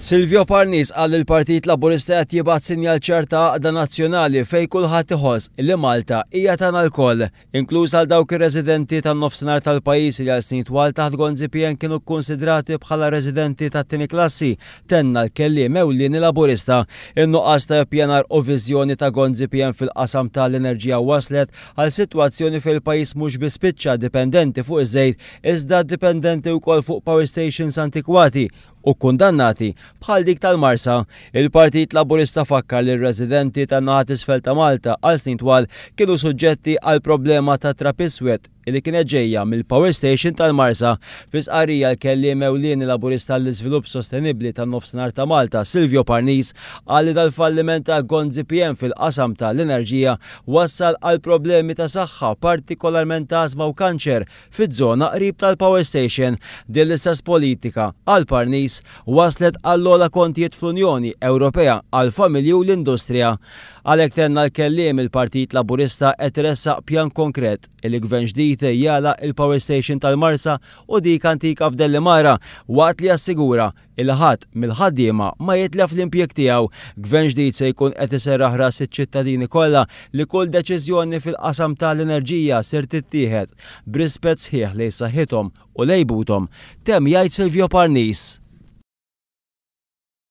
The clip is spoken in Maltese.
Silvio Parnis qal li l-Partit Laburista qed jibgħat sinjal ċar ta' għaqda nazzjonali fejn kulħadd iħoss li Malta hija tagħna lkoll, inkluż għal dawk ir-residenti tan-nofsinhar tal-pajjiż li għal snin twal taħt Gonzi PN kienu kkunsidrati bħala residenti tat-tieni klassi, tenna l-kelliem ewlieni Laburista. In-nuqqas ta' ippjanar u viżjoni ta' Gonzi PN fil-qasam ta' l-enerġija wasslet għal sitwazzjoni fejn il-pajjiż mhux biss spiċċa dipendenti fuq iż-żejt iżda dipendenti wkoll fuq power stations antikwati u kkundannati bħal dik tal-Marsa. Il-Partit Laburista fakkar li r-residenti tan-naħa t'isfel ta' Malta għal snin twal kienu suġġetti għal problema ta' trab iswed li kienet ġejja mill-power station tal-Marsa. Fi stqarrija l-kelliem ewlieni Laburista għall-Iżvilupp Sostenibbli tan-Nofsinhar ta' Malta, Silvio Parnis, qal li dal-falliment ta' Gonzi PM fil-qasam ta' l-enerġija wassal għal problemi ta' saħħa, partikolarment ta' ażma u kanċer, fiż-żona qrib tal-power station. Din l-istess politika, qal Parnis, wasslet għall-ogħla kontijiet fl-Unjoni Ewropea għall-familji u l-industrija. Għalhekk tenna l-kelliem, il-Partit Laburista qed iressaq pjan konkret li Gvern ġdid jagħlaq il-power station tal-Marsa u dik antika f'Dellimara waqt li jassigura Illi ħadd mill-ħaddiema ma jitlef l-impjieg tiegħu. Gvern ġdid se jkun qed iserraħ ras iċ-ċittadini kollha li kull deċiżjoni fil-qasam ta' l-enerġija ser tittieħed b'rispett sħiħ lejn saħħithom u lejn buthom, temm jgħid Silvio Parnis.